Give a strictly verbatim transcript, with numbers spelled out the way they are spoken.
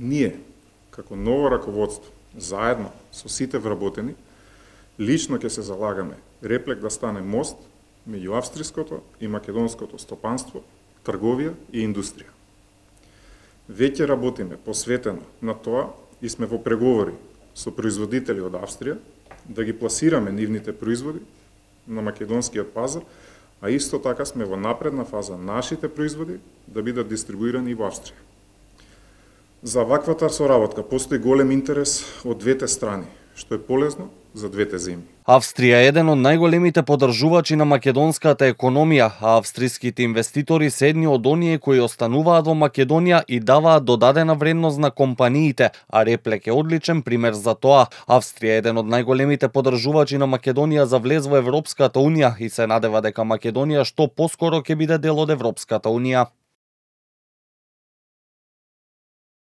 Ние, како ново раководство, заедно со сите вработени, лично ќе се залагаме Реплек да стане мост меѓу австриското и македонското стопанство, трговија и индустрија. Веќе работиме посветено на тоа и сме во преговори со производители од Австрија да ги пласираме нивните производи на македонскиот пазар, а исто така сме во напредна фаза нашите производи да бидат дистрибуирани и во Австрија. За ваквата соработка постои голем интерес од двете страни, што е полезно за двете земји. Австрија е еден од најголемите поддржувачи на македонската економија, а австриските инвеститори се едни од оние кои остануваат во Македонија и даваат додадена вредност на компаниите, а Реплек е одличен пример за тоа. Австрија е еден од најголемите поддржувачи на Македонија за влез во Европската унија и се надева дека Македонија што поскоро ќе биде дел од Европската унија.